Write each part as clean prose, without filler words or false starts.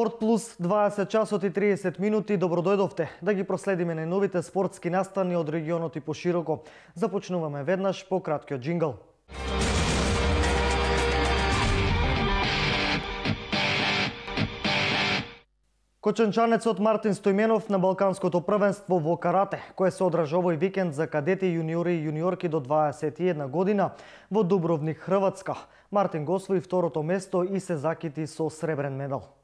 Спорт плюс 20 часот и 30 минути. Добродојдовте да ги проследиме најновите спортски настани од регионот и пошироко. Започнуваме веднаш по краткиот џингл. Кочанчанецот Мартин Стојменов на Балканското првенство во карате, кое се одржа овој викенд за кадети, јуниори и јуниорки до 21 година во Дубровник, Хрватска. Мартин го освои второто место и се закити со сребрен медал.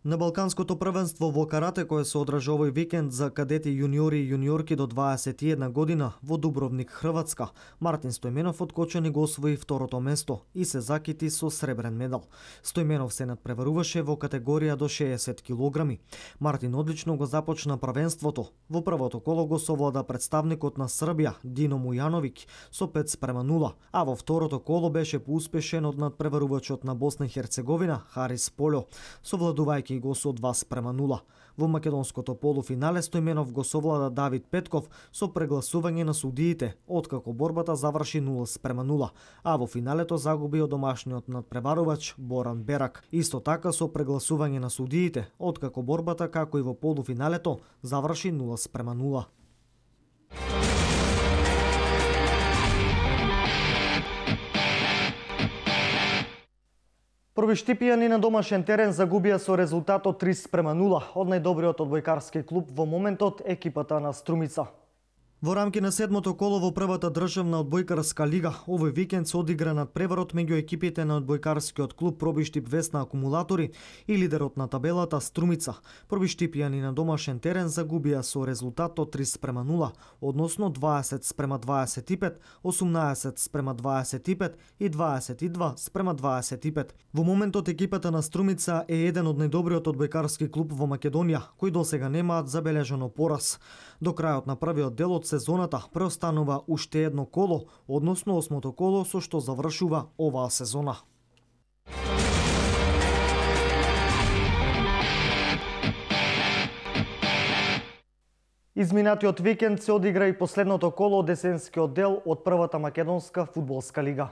На Балканското првенство во карате, кое се одржа овој викенд за кадети, јуниори и јуниорки до 21 година во Дубровник, Хрватска, Мартин Стојменов од Кочани го освои второто место и се закити со сребрен медал. Стојменов се надпреваруваше во категорија до 60 килограми. Мартин одлично го започна првенството. Во првото коло го совлада представникот на Србија Дино Мујановиќ со 5:0, а во второто коло беше поуспешен од надпреварувачот на Босна и Херцеговина Харис Полјо, совладувајќи го со 2:0. Во македонското полуфинале Стојменов го совлада Давид Петков со прегласување на судиите, откако борбата заврши 0:0, а во финалето загуби од домашниот надпреварувач Боран Берак. Исто така со прегласување на судиите, откако борбата, како и во полуфиналето, заврши 0:0. Пробиштипијани на домашен терен загубија со резултатот 3:0 од најдобриот одбојкарски клуб во моментот, екипата на Струмица. Во рамки на седмото коло во првата државна одбојкарска лига, овој викенд се одигра надпреварот меѓу екипите на одбојкарскиот клуб Пробиштип Весна Акумулатори и лидерот на табелата Струмица. Пробиштипијани на домашен терен загубија со резултатот 3:0, односно 20:25, 18:25 и 22:25. Во моментот екипата на Струмица е еден од најдобриот одбојкарски клуб во Македонија, кои досега немаат забележано пораз. До крајот на првиот дел од сезоната преостанува уште едно коло, односно 8-то коло со што завршува оваа сезона. Изминатиот викенд се одигра и последното коло од есенскиот дел од првата македонска фудбалска лига.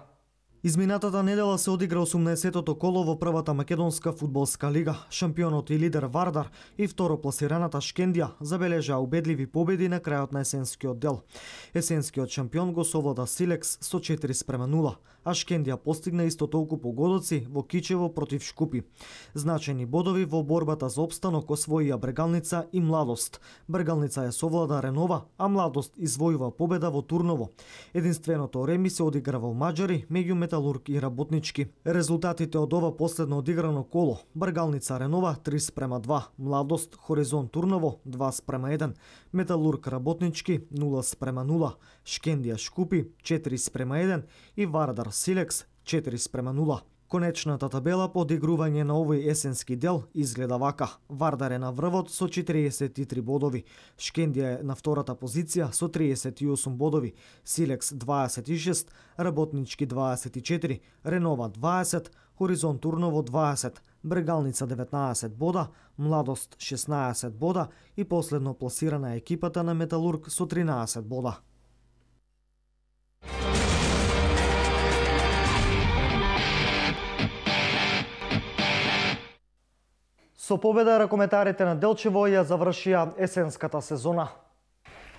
Изминатата недела се одигра 18-тото коло во првата македонска фудбалска лига. Шампионот и лидер Вардар и второпласираната Шкендија забележаа убедливи победи на крајот на есенскиот дел. Есенскиот шампион го совлада Силекс со 4:0, а Шкендија постигна исто толку погодоци во Кичево против Шкупи. Значајни бодови во борбата за опстанок освоија Брегалница и Младост. Брегалница ја совлада Ренова, а Младост извојува победа во Турново. Единственото реми се одигра во Маџари меѓу Металург и Работнички. Резултатите од ова последно одиграно коло: Бргалница Ренова 3:2, Младост Хоризонт Турново 2:1, Металург Работнички 0:0, Шкендија Шкупи 4:1 и Вардар Силекс 4:0. Конечната табела по одигрување на овој есенски дел изгледа вака: Вардар е на врвот со 43 бодови, Шкендија е на втората позиција со 38 бодови, Силекс 26, Работнички 24, Ренова 20, Хоризонт Турново 20, Брегалница 19 бода, Младост 16 бода и последно пласирана екипата на Металург со 13 бода. Со победа ракометарите на Делчево ја завршија есенската сезона.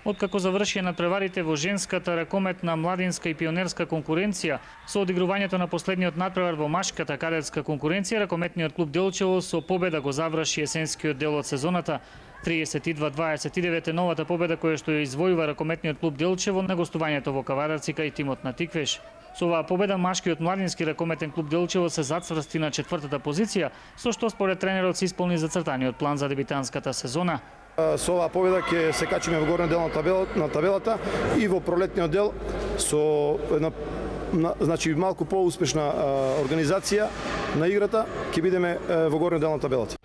Откако завршија надпреварите во женската ракометна, младинска и пионерска конкуренција, со одигрувањето на последниот надпревар во машката кадетска конкуренција, ракометниот клуб Делчево со победа го заврши есенскиот дел од сезоната. 32-29 е новата победа која што ја извојува ракометниот клуб Делчево на гостувањето во Кавадарци кај тимот на Тиквеш. Со оваа победа машкиот младински ракометен клуб Делчево се зацврсти на 4-та позиција, со што според тренерот се исполни зацртаниот план за дебитанската сезона. Со оваа победа ќе се качиме во горниот дел на табелата и во пролетниот дел со една малку поуспешна организација на играта ќе бидеме во горниот дел на табелата.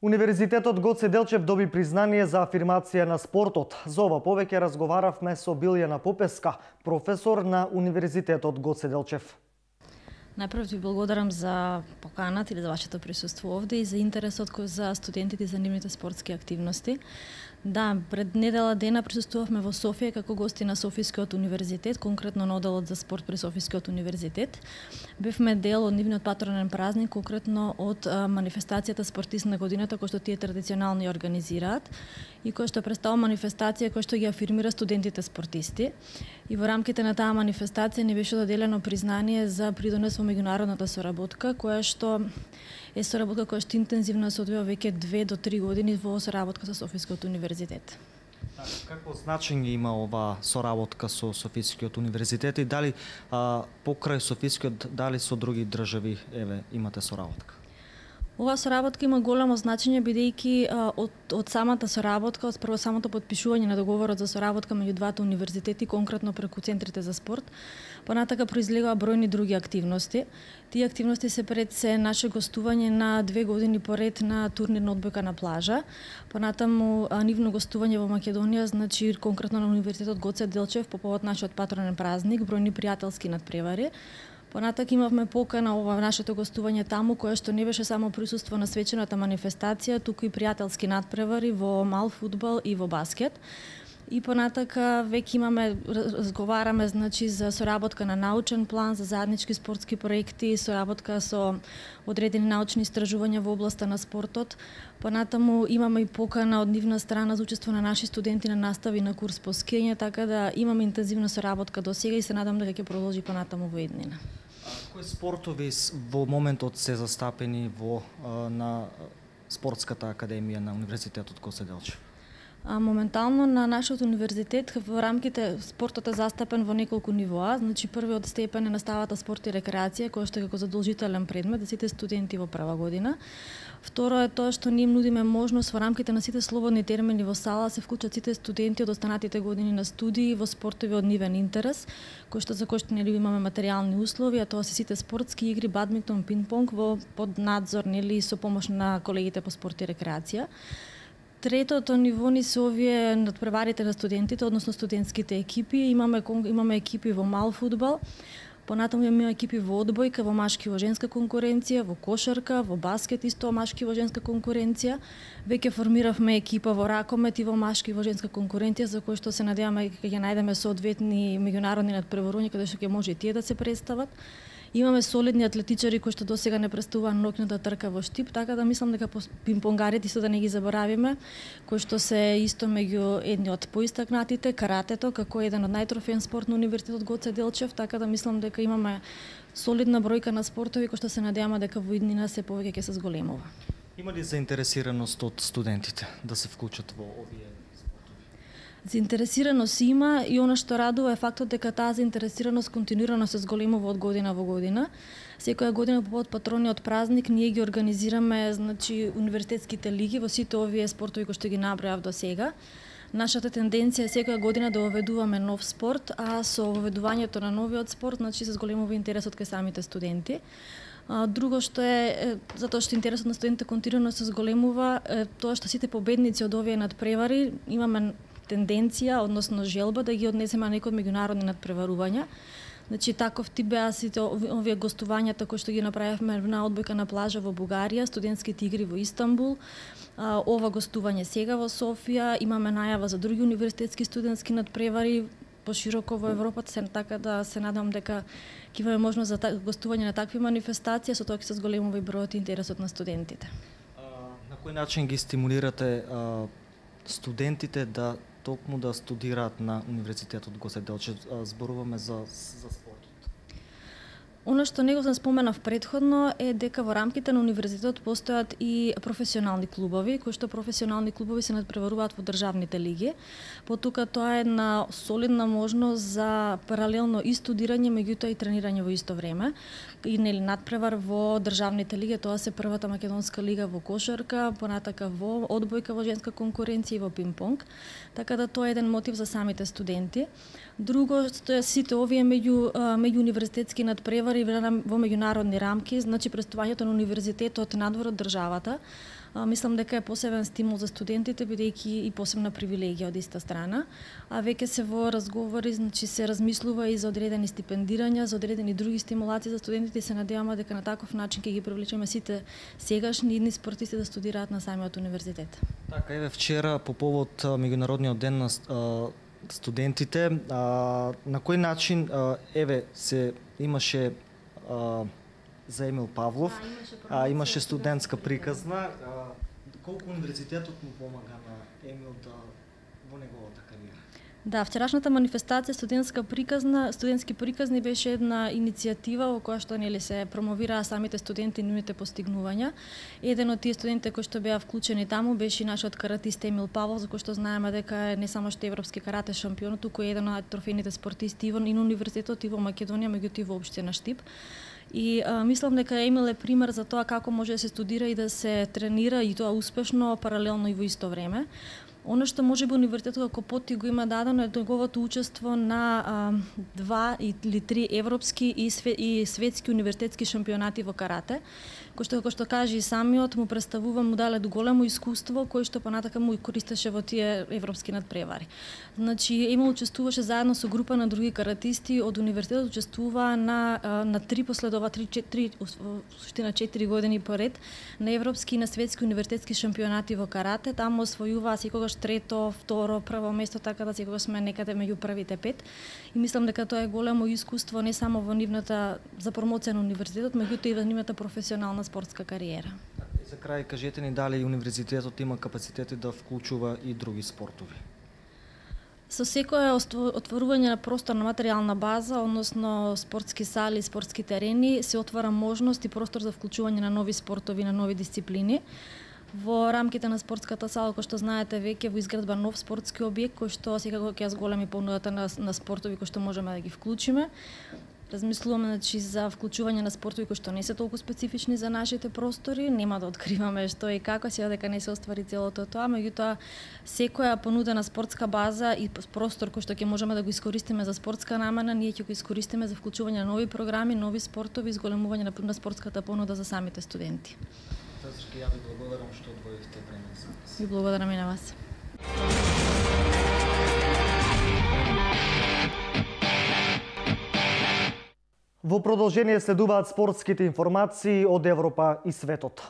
Универзитетот Гоце Делчев доби признание за афирмација на спортот. За ова повеќе разговаравме со Билјана Попеска, професор на Универзитетот Гоце Делчев. Најпрв ви благодарам за поканата или за вашето присуство овде и за интересот за студентите за нивните спортски активности. Да, пред недела дена присуствувавме во Софија како гости на Софискиот универзитет, конкретно на одделот за спорт при Софискиот универзитет. Бевме дел од нивниот патронен празник, конкретно од манифестацијата Спортист на годината, кој што тие традиционално ја организираат и кој што представува манифестација кој што ги афирмира студентите спортисти. И во рамките на таа манифестација ни беше доделено признание за придонес во меѓународната соработка, која што е соработка која што интензивно се одвива веќе 2 до 3 години во соработка со Софискиот универзитет. Какво значење има оваа соработка со Софискиот универзитет и дали покрај Софискиот, дали со други држави имате соработка? Оваа соработка има големо значење бидејќи од самата соработка, од прво самото потпишување на договорот за соработка меѓу двата универзитети, конкретно преку центрите за спорт, понатака произлегува бројни други активности. Тие активности се пред се наше гостување на 2 години поред на турнирна одбојка на плажа, понатаму нивно гостување во Македонија, значи конкретно на Универзитетот Гоце Делчев по повод нашиот патронен празник, бројни пријателски надпревари. Понатак имавме покана ова нашето гостување таму, кое што не беше само присуство на свечената манифестација, туку и пријателски надпревари во мал фудбал и во баскет. И понатака веќе имаме, разговараме значи за соработка на научен план, за заеднички спортски проекти, соработка со одредени научни истражувања во областа на спортот. Понатаму имаме и покана од нивна страна за учество на наши студенти на настави на курс по скијање, така да имаме интензивна соработка до сега и се надам дека ќе продолжи понатаму во иднина. Кои спортови во моментот се застапени на спортската академија на Универзитетот Гоце Делчев? Моментално на нашиот универзитет во рамките спортот е застапен во неколку нивоа. Значи првиот степен е наставата спорт и рекреација, која што е како задолжителен предмет за сите студенти во прва година. Второ е тоа што ние нудиме можност во рамките на сите слободни термини во сала се вклучат сите студенти од останатите години на студии во спортови од нивен интерес, за кои што нели имаме материјални услови, а тоа се сите спортски игри, бадминтон, пинг-понг под надзор нели со помош на колегите по спорт и рекреација. Третото ниво ни се овие надпреварите на студентите, односно студентските екипи. Имаме екипи во мал фудбал, понатаму имаме екипи во одбојка, во машки и во женска конкуренција, во кошарка, во баскет исто машки и во женска конкуренција. Веќе формиравме екипа во ракомет и во машки и во женска конкуренција, за кој што се надеваме дека ќе најдеме соодветни меѓународни надпреварувања каде што ќе може и тие да се представат. Имаме солидни атлетичари кои што досега не представуваа ноќната трка во Штип, така да мислам дека пинг-понгарите исто да не ги заборавиме, кои што се исто меѓу едни од поистакнатите, каратето како еден од најтрофеен спорт на Универзитетот Гоце Делчев, така да мислам дека имаме солидна бројка на спортови кои што се надеваме дека во иднина се повеќе ќе се зголемува. Има ли заинтересираност од студентите да се вклучат во овие? Заинтересираност има и она што радува е фактот дека таа заинтересираност континуирано се зголемува од година во година. Секоја година по повод патрониот празник ние ги организираме значи универзитетските лиги во сите овие спортови кои што ги набројав до сега. Нашата тенденција е секоја година да воведуваме нов спорт, а со воведувањето на новиот спорт значи се зголемува интересот кај самите студенти. Друго што е, затоа што интересот на студентите континуирано се зголемува, тоа што сите победници од овие надпревари имаме тенденција, односно желба да ги однесеме на некои од меѓународни надпреварувања. Значи таков тип беа сите овие гостувањата кои што ги направивме на одбојка на плажа во Бугарија, студентските игри во Истанбул, ова гостување сега во Софија, имаме најава за други универзитетски студентски надпревари пошироко во Европа, така да се надам дека ќе имаме можност за гостување на такви манифестации, со тоа ќе се зголемува и бројот и интересот на студентите. На кој начин ги стимулирате студентите да токму да студираат на Универзитетот Гоце Делчев? Зборуваме за спортот. Оно што него сам споменав претходно е дека во рамките на универзитетот постојат и професионални клубови, кои што професионални клубови се надпреваруваат во државните лиги. Потука тоа е една солидна можност за паралелно и студирање, меѓутоа и тренирање во исто време. И нели надпревар во државните лиги, тоа се првата македонска лига во кошарка, понатака во одбојка во женска конкуренција и во пинг-понг. Така да тоа е еден мотив за самите студенти. Друго што е сите овие меѓууниверзитетски надпревари во меѓународни рамки, значи представувањето на универзитетот надвор од државата, Мислам дека е посебен стимул за студентите, бидејќи и посебна привилегија од иста страна. А веќе се во разговори, значи се размислува и за одредени стипендирања, за одредени други стимулации за студентите и се надеваме дека на таков начин ќе ги привлечеме сите сегашни и идни спортисти да студираат на самиот универзитет. Така, еве вчера по повод меѓународниот ден на студентите, на кој начин еве се имаше за Емил Павлов, имаше студентска приказна. Колку универзитетот му помага на Емил во неговата кариера? Да, вчерашната манифестација студентски приказни беше една иницијатива во која што се промовираа самите студенти и нивните постигнувања. Еден од тие студенти кои што беа вклучени таму беше нашиот каратист Емил Павлов, за кој што знаеме дека е не само што европски карате шампион, туку е еден од трофејните спортисти и на универзитетот и во Македонија, меѓутоа и воопште на Штип. И мислам дека Емил е пример за тоа како може да се студира и да се тренира и тоа успешно, паралелно и во исто време. Оно што можеби универзитетот како поти го има дадено е неговото учество на 2 или 3 европски и светски универзитетски шампионати во карате, кој што, како што кажа и самиот, му представува, му дале големо искуство, кој што понатака му користеше во тие европски надпревари. Значи, Емил учествуваше заедно со група на други каратисти од универзитетот, учествува на 4 години поред на европски и на светски универзитетски шампионати во карате. Таму освојуваа секогаш трето, второ, прво место, така да секогаш сме некаде меѓу првите 5. И мислам дека тоа е големо искуство не само во нивната за промоција на универзитетот, меѓутоа и во нивната професионална спортска кариера. За крај, кажете ни дали универзитетот има капацитети да вклучува и други спортови? Со секое отворување на простор на материјална база, односно спортски сали, спортски терени, се отвара можност и простор за вклучување на нови спортови, на нови дисциплини. Во рамките на спортската сала, кој што знаете, веќе во изградба нов спортски објект, кој што секако ќе зголеми понудата на спортови кои што можеме да ги вклучиме. Размислуваме, значи, за вклучување на спортови кои што не се толку специфични за нашите простори. Нема да откриваме што и како, сега дека не се оствари целото тоа, меѓутоа секоја понудена спортска база и простор кој што ќе можеме да го искористиме за спортска намена, ние ќе го искористиме за вклучување на нови програми, нови спортови, изголемување на спортската понуда за самите студенти. Ја ви благодарам што одвоивте време за нас. И благодарам и на вас. Во продолжение следуваат спортските информации од Европа и светот.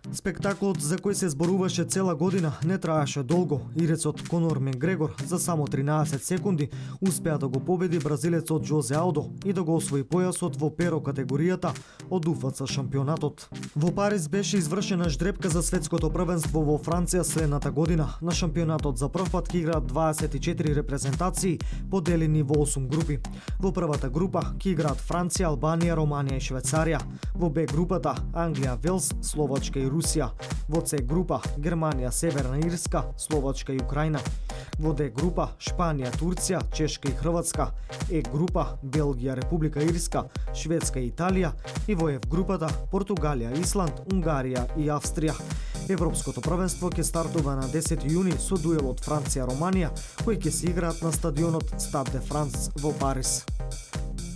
Спектаклот за кој се зборуваше цела година не траеше долго. Ирецот Конор Макгрегор за само 13 секунди успеа да го победи бразилецот Жозе Алдо и да го освои појасот во перо категоријата од УФЦ шампионатот. Во Париз беше извршена ждрепка за светското првенство во Франција следната година. На шампионатот за прв пат ќе играат 24 репрезентации поделени во 8 групи. Во првата група ќе играат Франција, Албанија, Романија и Швајцарија. Во Б групата Англија, Велс, Словачка и Русија. Во С група Германија, Северна Ирска, Словачка и Украина. Во Д група Шпанија, Турција, Чешка и Хрватска. Е група Белгија, Република Ирска, Шведска и Италија. И во Ф групата Португалија, Исланд, Унгарија и Австрија. Европското првенство ќе стартува на 10 јуни со дуелот Франција-Романија, кој ќе се играат на стадионот Стад де Франс во Париз.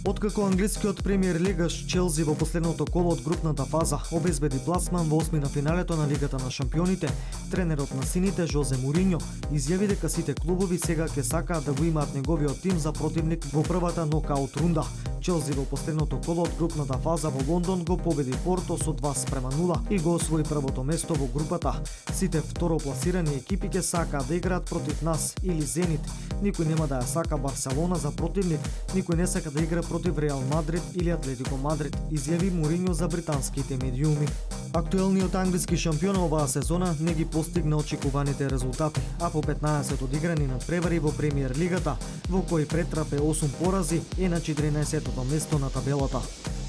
Откако англискиот премиер лигаш Челси во последното коло од групната фаза обезбеди пласман во осмина финалето на Лигата на шампионите, тренерот на сините Жозе Муриньо изјави дека сите клубови сега ќе сакаат да го имаат неговиот тим за противник во првата нокаут рунда. Челси во последното коло од групната фаза во Лондон го победи Порто со 2:0 и го освои првото место во групата. Сите второпласирани екипи ќе сакаат да играат против нас или Зенит. Никој нема да ја сака Барселона за противник, никој не сака да игра против Реал Мадрид или Атлетико Мадрид, изјави Муриньо за британските медиуми. Актуелниот англиски шампион оваа сезона не ги постигна очекуваните резултати, а по 15 одиграни надпревари во премиер лигата, во кои претрпе 8 порази, е на 14-тото место на табелата.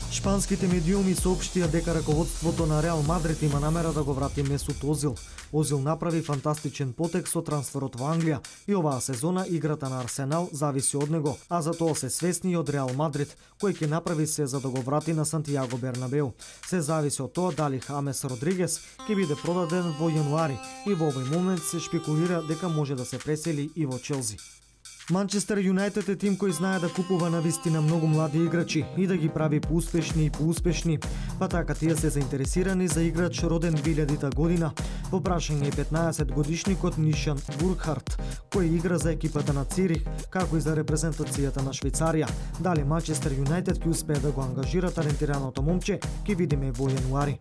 Шпанските медиуми соопштија дека раководството на Реал Мадрид има намера да го врати Месут Озил. Озил направи фантастичен потек со трансферот во Англија и оваа сезона играта на Арсенал зависи од него, а за тоа се свесни и од Реал Мадрид, кој ќе направи се за да го врати на Сантијаго Бернабеу. Се зависи од тоа дали Хамес Родригес ќе биде продаден во јануари и во овој момент се шпекулира дека може да се пресели и во Челси. Манчестер Юнајтед е тим кој знае да купува навистина многу млади играчи и да ги прави поуспешни и поуспешни. Па така тие се заинтересирани за играч роден 2000-та година. Во прашање е 15-годишникот Нишан Бургхарт, кој игра за екипата на Цирих, како и за репрезентацијата на Швајцарија. Дали Манчестер Юнајтед ќе успее да го ангажира талентираното момче, ќе видиме во јануари.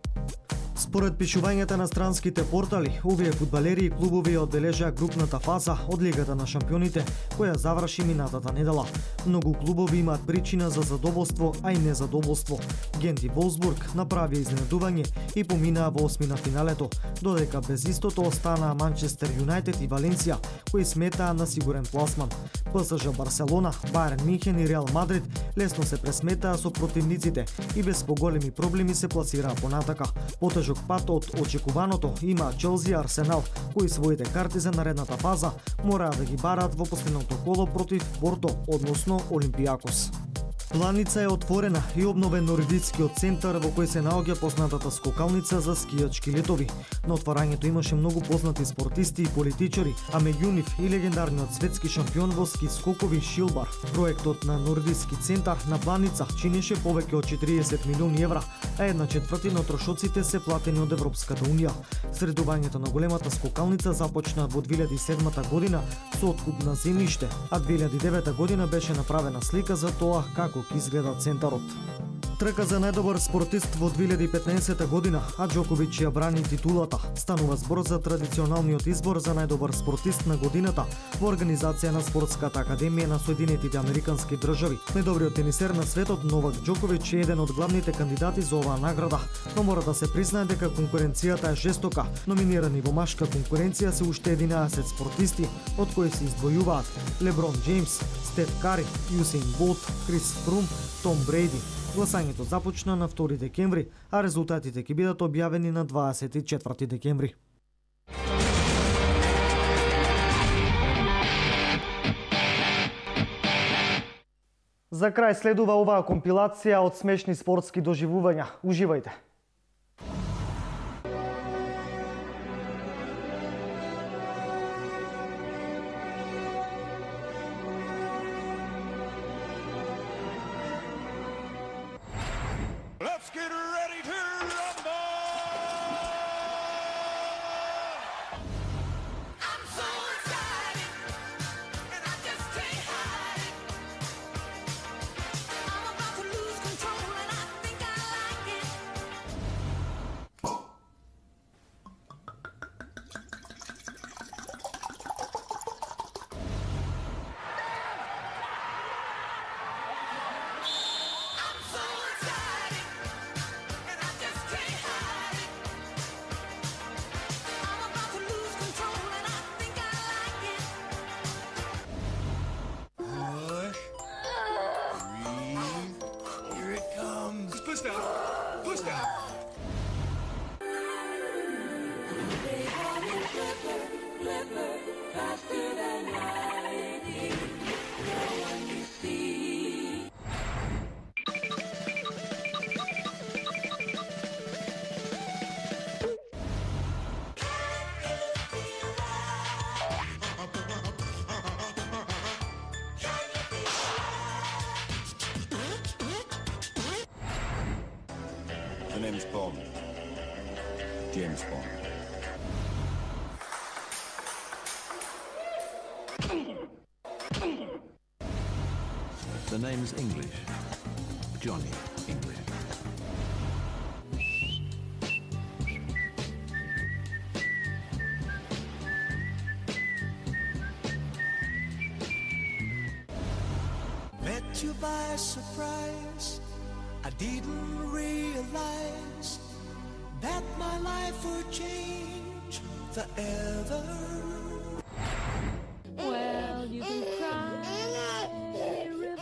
Според пишувањата на странските портали, овие фудбалери и клубови одбележаа групната фаза од Лигата на шампионите, која заврши минатата недела. Многу клубови имаат причина за задоволство, а и незадоволство. Гент и Волсбург направија изненадување и поминаа во осмина финалето, додека без истото останаа Манчестер Юнајтед и Валенсија, кои сметаа на сигурен пласман. ПСЖ Барселона, Бајерн Мюнхен и Реал Мадрид лесно се пресметаа со противниците и без поголеми проблеми се пласираа понатака. Потежок пат од очекуваното има Челси и Арсенал, кои своите карти за наредната фаза мораа да ги бараат во последното коло против Порто, односно Олимпијакос. Планица е отворена и обновен нордискиот центар во кој се наоѓа познатата скокалница за скијачки летови. На отварањето имаше многу познати спортисти и политичари, а меѓу нив и легендарниот светски шампион во ски скокови Шилбар. Проектот на нордиски центар на Планица чинеше повеќе од 40 милиони евра, а 1/4 од трошоците се платени од Европската унија. Средувањето на големата скокалница започна во 2007 година со откуп на земјиште, а 2009 година беше направена слика за тоа како ќе изгледа центарот. Трка за најдобар спортист во 2015 година, а Џоковиќ ја брани титулата. Станува збор за традиционалниот избор за најдобар спортист на годината во организација на Спортската академија на Соединетите Американски држави. Најдобриот тенисер на светот Новак Џоковиќ е еден од главните кандидати за оваа награда, но мора да се признае дека конкуренцијата е жестока. Номинирани во машка конкуренција се уште 11 спортисти, од кои се издвојуваат Леброн Џејмс, Стеф Кари, Јусеин Болт, Крис Фрум, Том Брейди. Гласањето започна на 2 декември, а резултатите ќе бидат објавени на 24 декември. За крај следува оваа компилација од смешни спортски доживувања. Уживајте! Let's get ready to rumble! I'm so excited, and I just can't hide it. I'm about to lose control, and I think I like it. I'm so excited. And I just can't hide it. I'm about to lose control, and I think I like it. Push. Breathe. Here it comes. Push down. Push down. Faster than lightning. No one can see. The name's Bond. James Bond. The name's English. Johnny English. Met you by surprise. I didn't realize that my life would change forever. Well, you can cry a river,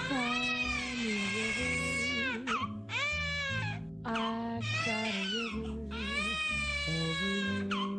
funny river. I cried a river over you.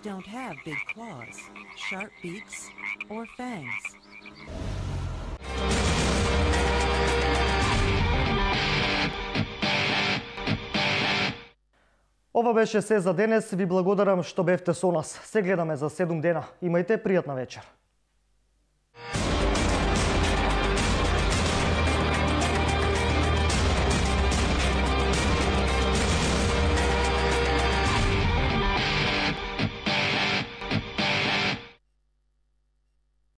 don't have big claws, sharp beaks, or fangs. Ова беше се за денес. Ви благодарам што бевте со нас. Се гледаме за 7 дена. Имајте пријатна вечер.